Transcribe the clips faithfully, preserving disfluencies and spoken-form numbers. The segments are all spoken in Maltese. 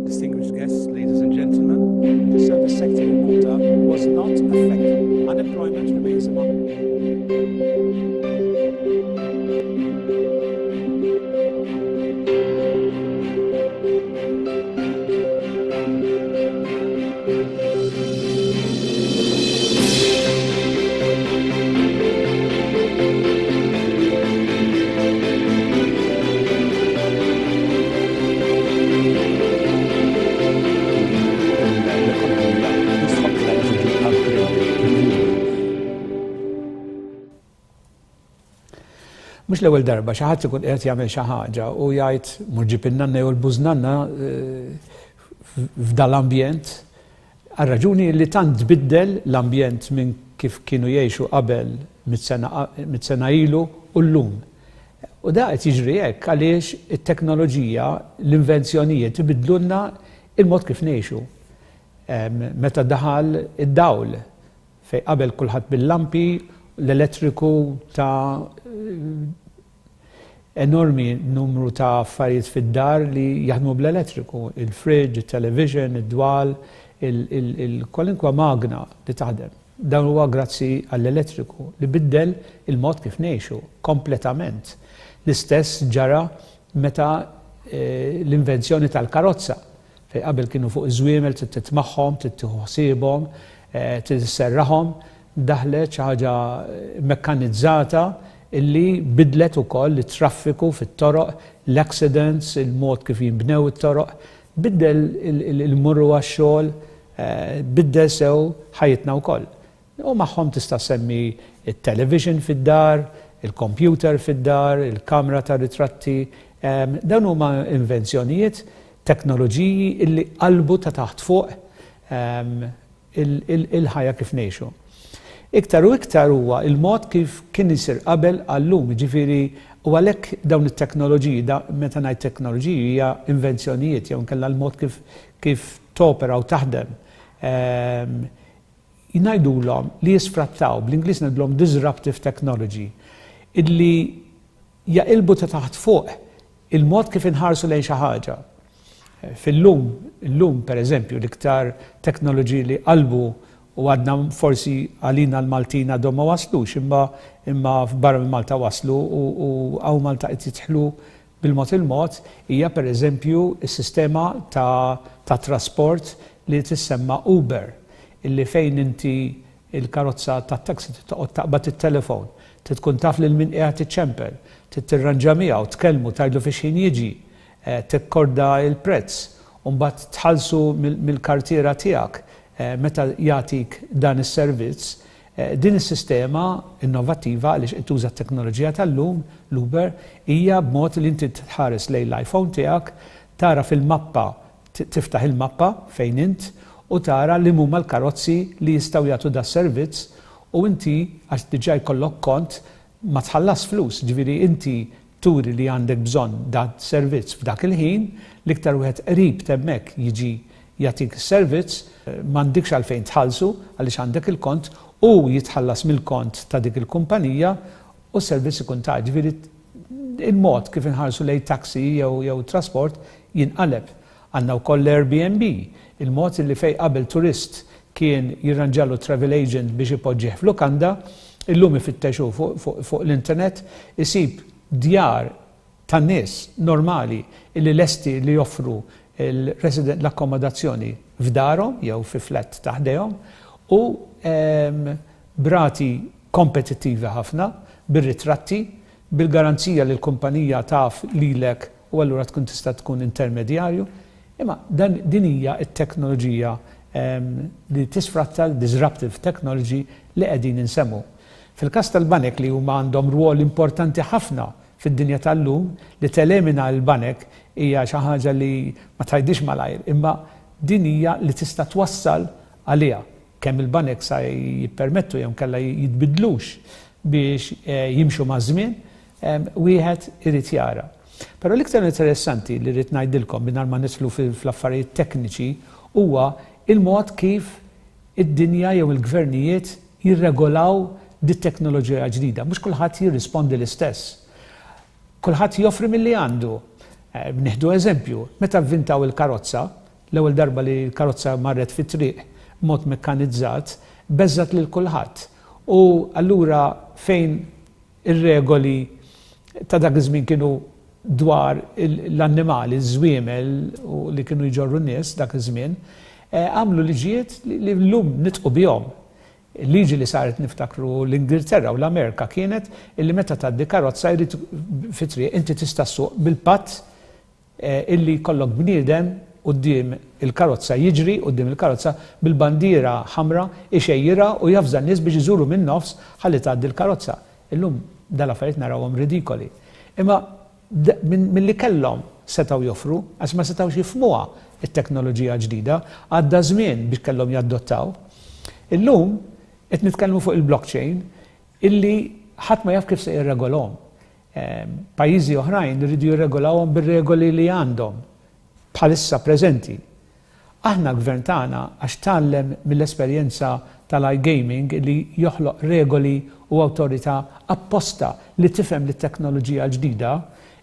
Distinguished guests, ladies and gentlemen, the service sector in Malta was not affected. Unemployment remains among L-ekonomija jistħoqqilha li tiġi upgraded. Mhux l-ewwel darba xi ħadd ikun qed jagħmel xi ħaġa u jgħid mur ġib in-nanna jew l-bużnanna f'dal-ambjent għal raġuni li tant tbiddel l-ambjent minn kif kienu jgħixu qabel mitt sena ilu u llum. U da qed jiġri hekk għaliex it-teknoloġija, l-invenzjonijiet ibiddlulna il-mod kif ngħixu. Meta daħal id-dawl, fej qabel kulħadd bil-lampi, l-elettriku ta' enormi numru ta' affarijiet fid-dar li jaħdmu bl-elettriku, il-fridge, il-television, id-dwal, il-kwalinkwa magna li taħdem. Dan huwa grazzi għall-elettriku li biddel il-mod kif ngħixu kompletament. L-istess ġara meta l-invenzjoni tal-karozza, fej qabel kienu fuq iż-żwiemel trid titmagħhom, trid tieħu ħsiebhom, trid isserraħhom, daħlet xi ħaġa mekkanizzata illi bidlet ukoll it-traffiku fit-toroq, l-accidents, il-mod kif jinbnew it-toroq, biddel il-murru għax-xogħol, biddel sew ħajjitna wkoll. U magħhom tista' semmi it-television fid-dar, il-computer fid-dar, il-kamra ta' ritratti, dawn huma invenzjonijiet, teknoloġiji illi qalbu ta' taħt fuq il-ħajja kif ngħixu. Iktar u iktar huwa il-mod kif kien isir qabel għallum, ġifieri u għalhekk dawn it-teknoloġiji, meta ngħid teknoloġiji hija invenzjonijiet jew inkella l-mod kif kif topera u taħdem. Jgħidulhom li jisfrattaw, bl-Ingliż ngħidulhom disruptive technology, illi jaqilbu ta' taħt fuq il-mod kif inħarsu lejn xi ħaġa. Fil-lum, illum per eżempju, l-iktar teknoloġiji li qalbu u għadna forsi għalina l-Maltina għadhom ma waslux, imma imma barra minn Malta waslu u hawn Malta qed jidħlu bil-mod il-mod, hija per eżempju s-sistema ta', ta' trasport li tissemma Uber, illi fejn inti il-karozza ta' taxi toqgħod taqbad it-telefon, tkun taf lil min qiegħed iċċempel, tirranġa miegħu, tkellmu, tgħidlu fiex ħin jiġi, tikkorda il-prezz, u mbagħad tħallsu mill-kartiera tiegħek meta jagħtik dan is-servizz. Din is-sistema innovattiva għaliex qed tuża t-teknoloġija tal-lum, l-Uber, hija b'mod li inti tħares lejn l-iPhone tiegħek, tara fil-mappa, tiftaħ il-mappa fejn int u tara li huma l-karozzi li jistgħu jagħtu da servizz u inti għax diġà jkollok kont ma tħallas flus, ġifieri inti turi li għandek bżonn da servizz f'dak il-ħin, l-iktar wieħed qrib t'hemmhekk jiġi jagħtik is-servizz, m'għandikx għalfejn tħallsu għaliex għandek il-kont u jitħallas mill-kont ta' dik il-kumpanija u s-servizz ikun ta' ġifieri il-mod kif inħarsu lejn taxi jew jew trasport jinqaleb. Għandna wkoll l-Airbnb, il-mod li fej qabel turist kien jirranġalu travel agent biex ipoġġih f'lukanda, illum ifittexu fuq fu, l-internet, isib djar tan-nies normali illi lesti li joffru il-resident l-akkomodazzjoni f'darhom jew fi flat taħdejhom u b'rati kompetittivi ħafna, bir-ritratti, bil-garanzija li l-kumpanija taf lilek u allura tkun tista' tkun intermedjarju. Imma dan din hija t-teknoloġija li tisfratta l-disruptive technology li qegħdin insemmu. Fil-każ tal-banek li huma għandhom rwol importanti ħafna fid-dinja tal-lum, li telemina l-banek hija xi ħaġa li ma tgħidix malajr, imma din hija li tista' twassal għaliha. Kemm il-banek sa jippermettu jew kellha jitbidlux biex jimxu maż-żmien, wieħed irid jara. Però l-iktar interessanti li rrid ngħidilkom mingħajr ma nidħlu fl-affarijiet tekniċi huwa il-mod kif id-dinja jew il-gvernijiet jirregolaw dit-teknoloġija ġdida. Mhux kulħadd jirrispondi l-istess. Kulħadd joffri milli għandu. Nieħdu eżempju, meta vvintaw il-karozza, L-ewwel darba li l-karozza marret fit-triq mod mekkanizzat, beżżgħet lil kulħadd. U allura fejn ir-regoli ta' dak iż-żmien kienu dwar l-annimali, żwiemel u li kienu jġorru n-nies dak iż-żmien, għamlu liġijiet li llum nidħku bihom. Liġi li saret, niftakru, l-Ingilterra u l-Amerika kienet illi meta tgħaddi karozza jrid fit-triq, inti tista' ssuq bil-patt illi jkollok bniedem quddiem il-karozza, jiġri quddiem il-karozza bil-bandiera ħamra, ixejjirha u javża n-nies biex iżuru minn nofs ħalli tgħaddi l-karozza. Illum dal-affarijiet narawhom ridikoli. Imma milli kellhom setgħu joffru, għax ma setgħux jifhmuha it-teknoloġija ġdida, għadda żmien biex kellhom jaddottaw. Illum qed nitkellmu fuq il-blockchain illi ħadd ma jaf kif se jirregolhom. Pajjiżi oħrajn iridu jirregolawhom bir-regoli li għandhom bħalissa preżenti. Aħna l-gvern tagħna, għax tgħallem mill-esperjenza tal-iGaming li joħloq regoli u awtorità apposta li tifhem li teknoloġija ġdida,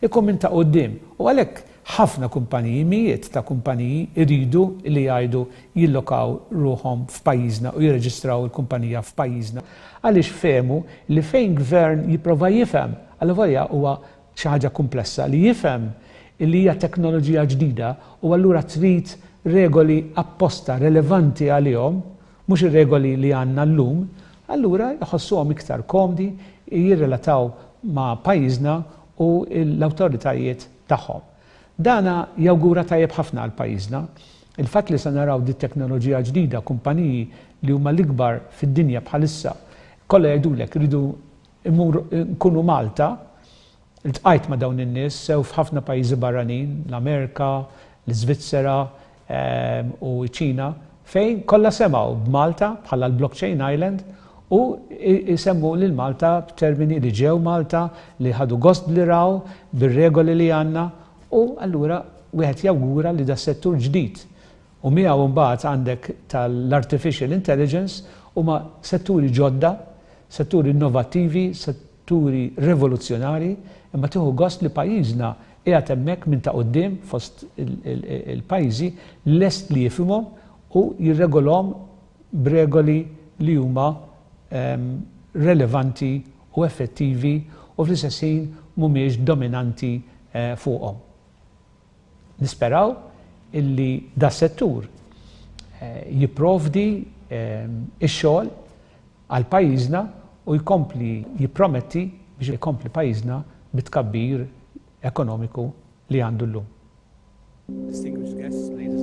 ikun minn ta' quddiem. U għalhekk ħafna kumpaniji, mijiet ta' kumpaniji iridu li jgħidu jillokaw ruħhom f'pajjiżna u jirreġistraw il-kumpanija f'pajjiżna. Għaliex fehmu li fejn gvern jipprova jifhem, għal huwa xi ħaġa komplessa li jifhem li hija teknoloġija ġdida u allura trid regoli apposta relevanti għalihom, mhux ir-regoli li għandna llum, allura jħossuhom iktar komdi jirrelataw ma' pajjiżna u l-awtoritajiet tagħhom. Dana jawgura tajjeb ħafna għal pajjiżna. Il-fatt li se naraw di teknoloġija ġdida, kumpaniji li huma l-ikbar fid-dinja bħalissa, kollha jgħidulek ridu nkunu Malta. Iltqajt ma' dawn in-nies sew f'ħafna pajjiżi barranin, l-Amerika, l-Iżvizzera ehm, u ċ-Ċina, fejn kollha semgħu b'Malta bħala l-Blockchain Island u jsemmu lil Malta b'termini li ġew Malta, li ħadu gost li raw bir-regoli li għandna, u allura wieħed jawgura li da settur ġdid u miegħu mbagħad għandek tal-artificial intelligence huma setturi ġodda, setturi innovattivi, setturi rivoluzzjonari, imma tieħu gost li pajjiżna qiegħed hemmhekk minn ta' quddiem fost il-pajjiżi, lest li jifhimhom u jirregolhom b'regoli li huma ehm, relevanti u effettivi u fl-istess ħin mhumiex dominanti eh, fuqhom. Nisperaw illi da settur eh, jipprovdi ehm, ix-xogħol għal pajjiżna u jkompli jipprometti biex jkompli pajjiżna bit-tkabbir ekonomiku li għandu llum. Distinguished guests, ladies